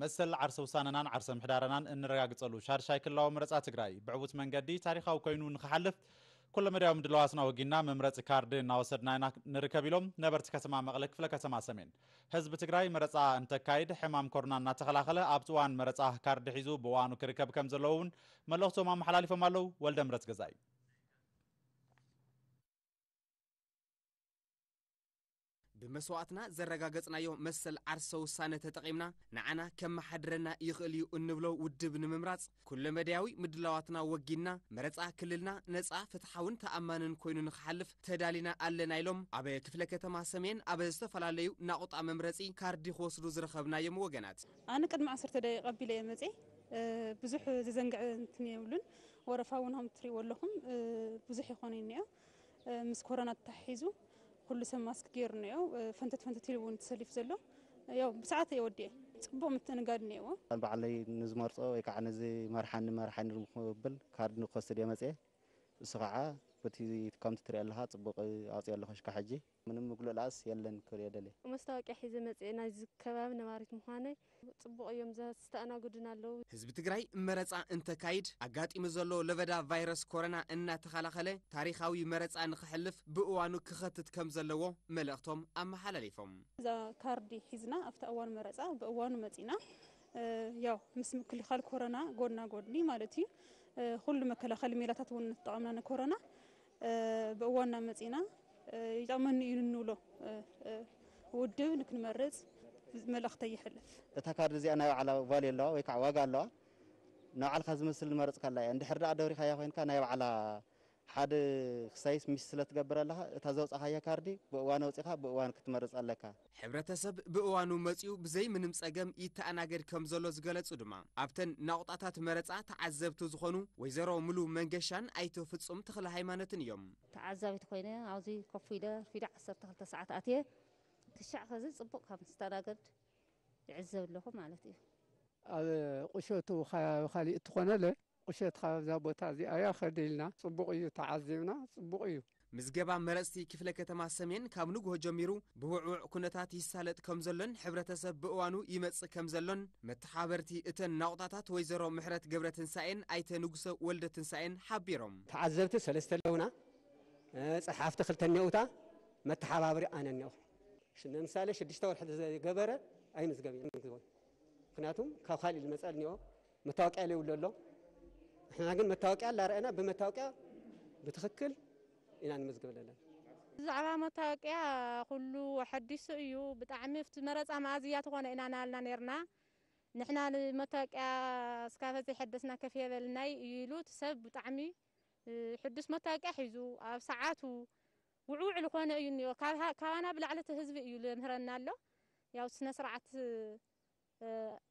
መሰል ዓርሰ ውሳነናን ዓርሰ ምሕዳረናን እንረጋግጸሉ ሻድሻይ ክልላዊ መረጻ ትግራይ ብዕዉት መንገዲ ታሪኻዊ ኮይኑ ንኽሓልፍ ኩለመዳያዊ ምድላዋትና ወጊና መምረጺ ካርዲ እናወሰድና ኢና ንርከብ ኢሎም ነበርቲ ከተማ መቐለ ክፍለ ከተማ ሰሜን። ህዝቢ ትግራይ መረጻ እንተካይድ ሕማም ኮሮና እናተኸላኸለ ኣብቲ እዋን መረጻ ካርዲ ሒዙ ብእዋኑ ክርከብ ከም ዘለዎ እውን መልእኽቶም ኣመሓላሊፎም ኣለዉ። ወልደ ምረት ገዛይ። ብመስዋእትና ዘረጋገጽናዮ መሰል ዓርሰ ውሳነ ተጠቒምና ንዓና ከመሓድረና ይኽእል እዩ እንብሎ ውድብ ንምምራጽ ኩለመዳያዊ ምድላዋትና ወጊንና መረጻ ክልልና ነጻ ፍትሓውን ተኣማንን ኮይኑ ንኽሓልፍ ተዳሊና ኣለና ኢሎም ኣብ ክፍለ ከተማ ሰሜን ኣብ ዝተፈላለዩ ናቑጣ መምረጺ ካርዲ ክወስዱ ዝረኸብናዮም ወገናት። ኣነ ቅድሚ ዓሰርተ ደቂቕ ኣቢለ እየ መፅየ። ብዙሕ ዘዘንግዐ እንትን የብሉን። ወረፋ እውን ከም ትሪእዎ ኣለኹም ብዙሕ ይኾነ እኒኦ። ምስ ኮሮና ተታሒዙ ኩሉ ሰብ ማስክ ገይሩ እኒኦ። ፈንተት ፈንተት ኢሉ እውን ተሰሊፉ ዘሎ። ያው ብሰዓት እየ ወዲኤ። ፅቡቕ ምትእንጋድ እኒኦዎ። ባዕለይ ንዝመርፆ ወይ ከዓ ንዝመርሓኒ መርሓኒ ክብል ካርድ ንክወስድ እየ መፅየ። እሱ ከዓ በቲ ከምቲ ትሪኦ ኣለኻ ፅቡቕ ኣውፅኦ ኣለኹ ሽካ ሕጂ። ምንም ምጉልላስ የለን ክብል እየ ደልየ። መስታወቅያ ሒዘ መፅየ ናይዚ ከባቢ ነባሪት ምዃነይ። ፅቡቕ እዮም ዘስተኣናግዱና ኣለዉ። ህዝቢ ትግራይ መረፃ እንተካይድ ኣጋጢሙ ዘሎ ለበዳ ቫይረስ ኮረና እናተኸላኸለ ታሪኻዊ መረፃ ንኽሕልፍ ብእዋኑ ክኸትት ከም ዘለዎ መልእኽቶም ኣመሓላሊፎም። እዛ ካርዲ ሒዝና ኣብቲ እዋን መረፃ ብእዋኑ መፂና ያው ምስ ምክልኻል ኮረና ጎድና ጎድኒ ማለት እዩ። ኩሉ መከላኸሊ ሜላታት እውን ንተጠቐምና ንኮረና ብእዋንና መፂና ይጠቕመኒ እዩ ንንብሎ ውድብ ንክንመርፅ መልእኽተይ ይሕልፍ። እታ ካርድ እዚኣ ናይ ባዕላ ቫልዩ ኣለዋ ወይ ከዓ ዋጋ ኣለዋ። ንባዕልካ ዝመስል ዝመረፅካላ እያ። እንድሕር ደኣ ደብሪካያ ኮይንካ ናይ ባዕላ ሓደ ክሳይስ ሚስ ስለ ትገብር ኣለኻ እታ ዘውፃኻያ ካርዲ ብእዋን ኣውፂኻ ብእዋን ክትመርፅ ኣለካ። ሕብረተሰብ ብእዋኑ መፂኡ ብዘይ ምንም ፀገም ይተኣናገድ ከም ዘሎ ዝገለፁ ድማ ኣብተን ናቑጣታት መረፃ ተዓዘብቲ ዝኾኑ ወይዘሮ ሙሉ መንገሻን ኣይተ ፍፁም ተኽለ ሃይማኖትን እዮም። ተዓዛቢት ኮይነ ኣብዚ ኮፍ ኢለ ርፊዳ ዓሰርተ ክልተ ሰዓት ኣትየ ክሻዕ ከዚ ፅቡቕ ከም ዝተናገድ ይዕዘብ ኣለኹ ማለት እዩ። ኣብ ቁሸቱ ከባቢ ካሊእ እትኾነለ ቁሸት ካብዛ ቦታ እዚኣ እያ ከድልና ፅቡቕ እዩ ተዓዚብና ፅቡቕ እዩ። ምዝገባ መረፅቲ ክፍለ ከተማ ሰሜን ካብ ንግሆ ጀሚሩ ብውዕውዕ ኩነታት ይሳለጥ ከም ዘሎን ሕብረተሰብ ብእዋኑ ይመፅእ ከም ዘሎን መተሓበርቲ እተን ናቑጣታት ወይዘሮ ምሕረት ገብረትንሳኤን ኣይተ ንጉሰ ወልደትንሳኤን ሓቢሮም። ተዓዘብቲ ሰለስተ ኣለውና፣ ፀሓፍቲ ክልተ እኒኦውታ፣ መተሓባብሪ ኣነ እኒኦ። ንምሳሌ ሽዱሽተ ወርሒ ዝገበረ ኣይምዝገብ ምክንያቱም ካብ ካሊእ ዝመፀ እኒኦ መታወቂያ ለይብሉ ኣሎ። ንሕና ግን መታወቂያ ላረአና ብመታወቂያ ብትኽክል ኢና ንምዝግብ ዘለና። ብዛዕባ መታወቂያ ኩሉ ሓዲሱ እዩ። ብጣዕሚ ኣብቲ መረፃ መኣዝያ ትኾነ ኢና ናልና ነርና። ንሕና ንመታወቂያ እስካፈ ዘይሐደስና ከፍ የበልናይ እዩ ኢሉ እቲ ሰብ ብጣዕሚ ሕዱስ መታወቂያ ሒዙ ኣብ ሰዓቱ ውዕውዕ ልኾነ እዩ እኒኦ። ካባና ብላዕሊ እቲ ህዝቢ እዩ ልምህረና ኣሎ። ያው ስነ ስርዓት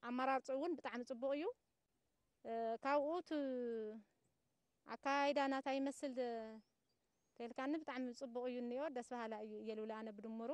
ኣመራርፅኡ እውን ብጣዕሚ ፅቡቕ እዩ። ካብኡ እቲ ኣካይዳ ናታ ይመስል ተልካኒ ብጣዕሚ ፅቡቕ እዩ እኒኦ፣ ደስ በሃላ እዩ እየ ልብል ኣነ ብድምሩ።